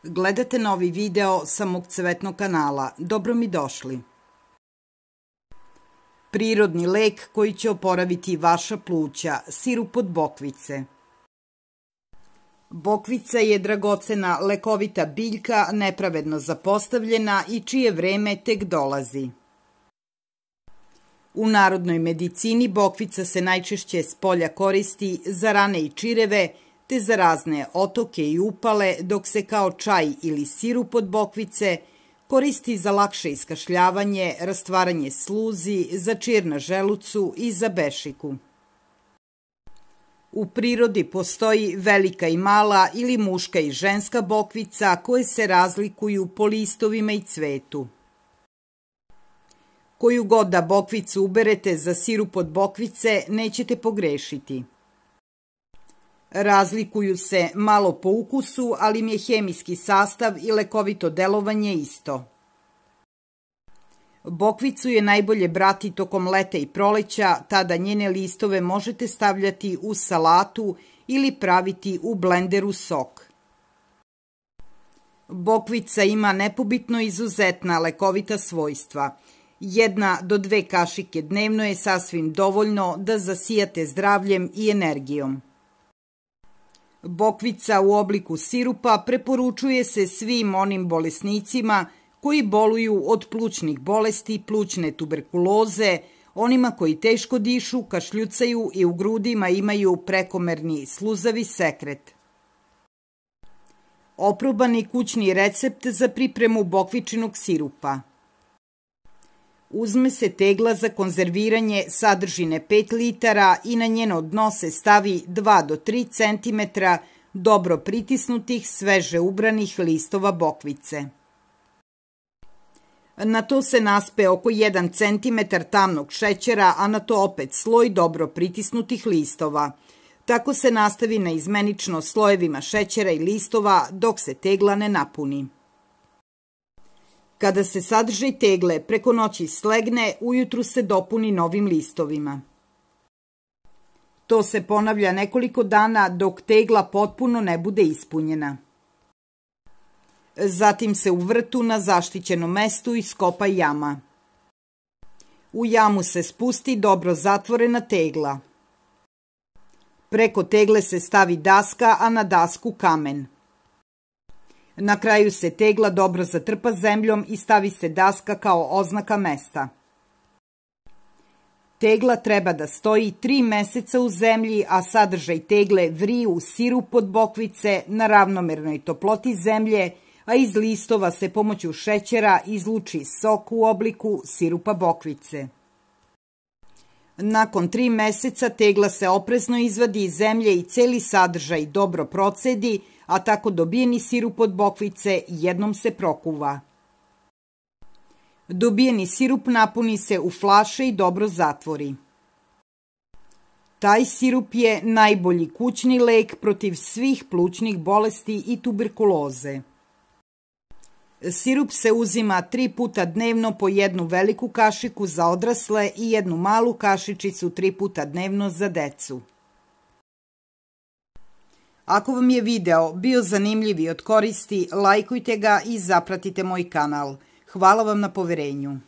Gledate novi video sa mog cvetnog kanala. Dobro mi došli. Prirodni lek koji će oporaviti vaša pluća, sirup od bokvice. Bokvica je dragocena lekovita biljka, nepravedno zapostavljena i čije vreme tek dolazi. U narodnoj medicini bokvica se najčešće s polja koristi za rane i čireve, te za razne otoke i upale, dok se kao čaj ili sirup od bokvice koristi za lakše iskašljavanje, rastvaranje sluzi, za čir na želucu i za bešiku. U prirodi postoji velika i mala ili muška i ženska bokvica koje se razlikuju po listovima i cvetu. Koju god da bokvicu uberete za sirup od bokvice, nećete pogrešiti. Razlikuju se malo po ukusu, ali im je hemijski sastav i lekovito delovanje isto. Bokvicu je najbolje brati tokom leta i proleća, tada njene listove možete stavljati u salatu ili praviti u blenderu sok. Bokvica ima nepobitno izuzetna lekovita svojstva. 1 do 2 kašike dnevno je sasvim dovoljno da zasijate zdravljem i energijom. Bokvica u obliku sirupa preporučuje se svim onim bolesnicima koji boluju od plućnih bolesti, plućne tuberkuloze, onima koji teško dišu, kašljucaju i u grudima imaju prekomerni sluzavi sekret. Oprobani kućni recept za pripremu bokvičinog sirupa. Uzme se tegla za konzerviranje sadržine 5 litara i na njeno dno se stavi 2 do 3 cm dobro pritisnutih, sveže ubranih listova bokvice. Na to se naspe oko 1 cm tamnog šećera, a na to opet sloj dobro pritisnutih listova. Tako se nastavi naizmenično slojevima šećera i listova dok se tegla ne napuni. Kada se sadržaj tegle preko noći slegne, ujutru se dopuni novim listovima. To se ponavlja nekoliko dana dok tegla potpuno ne bude ispunjena. Zatim se u vrtu na zaštićenom mestu iskopa jama. U jamu se spusti dobro zatvorena tegla. Preko tegle se stavi daska, a na dasku kamen. Na kraju se tegla dobro zatrpa zemljom i stavi se daska kao oznaka mesta. Tegla treba da stoji 3 meseca u zemlji, a sadržaj tegle vri u sirup od bokvice na ravnomernoj toploti zemlje, a iz listova se pomoću šećera izluči sok u obliku sirupa bokvice. Nakon 3 meseca tegla se oprezno izvadi iz zemlje i celi sadržaj dobro procedi, a tako dobijeni sirup od bokvice jednom se prokuva. Dobijeni sirup napuni se u flaše i dobro zatvori. Taj sirup je najbolji kućni lek protiv svih plućnih bolesti i tuberkuloze. Sirup se uzima 3 puta dnevno po 1 veliku kašiku za odrasle i 1 malu kašičicu 3 puta dnevno za decu. Ako vam je video bio zanimljiv i od koristi, lajkujte ga i zapratite moj kanal. Hvala vam na poverenju.